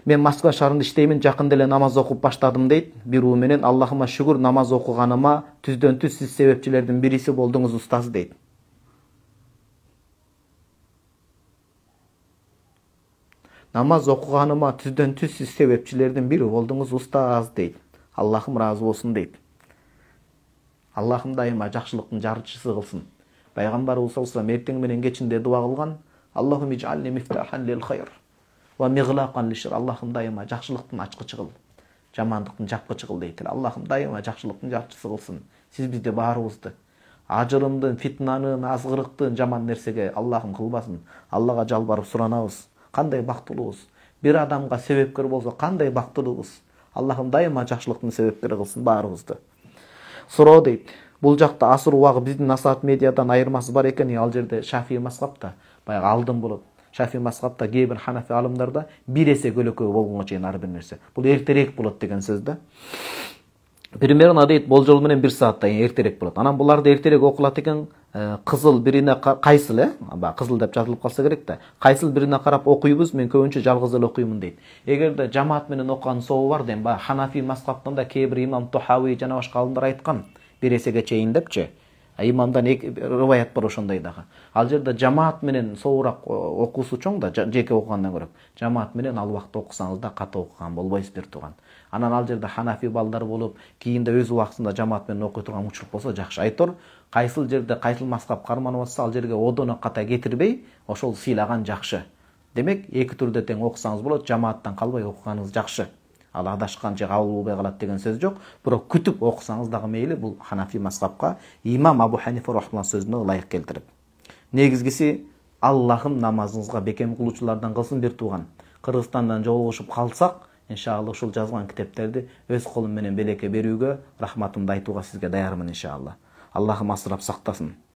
Мен Москва шаарында иштеймин, жакында эле намаз окуп баштадым дейт. Бирөө менен Аллахыма шүгүр, намаз окуганыма түздөн түз сиз себепчилердин бириси болдуңуз устаз дейт. Намаз окуганыма түздөн түз сиз себепчилердин бири болдуңуз устаз дейт. Аллахым ыраазы болсун дейт. Аллахым дайыма жакшылыктын жарчысы кылсын. Пайгамбарыбыз саллаллаху алейхи вассалам эртең менен кечинде дуа кылган: Аллахум иджални мифтахан лил хайр ва миглакан лишр. Аллахым дайыма жакшылыктын ачкычы кыл, жамандыктын жапкычы кыл дейт. Аллахым дайыма жакшылыктын жарчысы кылсын. Сиз бизди баарыбызды ажырымдын, фитнанын, азгырыктын, жаман нерсеге Аллахым кылбасын. Аллага жалбарып суранабыз. Кандай бактылуубуз. Бир адамга себепкер болсо кандай бактылуубуз. Аллахым дайыма жакшылыктын себепкери кылсын баарыбызды. Суроо дейт. Бул жакта асыр убагы биздин насаат медиадан айырмасы бар экен. Ал жерде Шафии мазхабта баягы алдын болот. Шафии мазхабта кээ бир Ханафи алымдарда бир эсе көлөкөө болгонго чейин ар бир нерсе. Бул эртерээк болот деген сөз да. Примерно дейт болжол менен 1 сааттан эртерээк болот. Анан буларды эртерээк окулат экен. Кызыл бирине кайсыл, кызыл деп жазылып калса керек да. Кайсыл бирине карап окуйбуз, мен көбүнчө жалгыз эле окуймун дейт. Эгерде жамаат менен окуганын собу бар дейм, Ханафи мазхабтан да кээ бир имам Тухави жана башка алымдар айткан. Бир эсеге чейин депчи. Имамдан риваят бар ошондой дагы. Ал жерде жамаат менен собурак окуусу чоң да, жеке окугандан көрө. Жамаат менен ал убакта окусаңыз да ката окуган болбойсуз бир тууган. Анан ал жерде Ханафи балдар болуп, кийинде өз убактында жамаат менен окуй турган учур болсо жакшы. Айтор, кайсыл жерде кайсыл мазхаб карманып атса, ал жерге одоно ката кетирбей, ошол сыйлаган жакшы. Демек, эки түрдө тең окусаңыз болот, жамааттан калбай окуганыңыз жакшы. Ал адашкан же кабыл болбой калат деген сөз жок. Бирок күтүп окусаңыз дагы мейли, бул Ханафи мазхабка имам Абу Ханифа рахмаллах сөзүнө ылайык келтирип. Негизгиси Аллахым намазыңызга бекем кылуучулардан кылсын бир тууган. Кыргызстандан жолугушуп калсак, иншалла ушул жазган китептерди өз колум менен белекке берүүгө, рахматымды айтууга сизге даярмын иншалла. Аллахым асырап сактасын.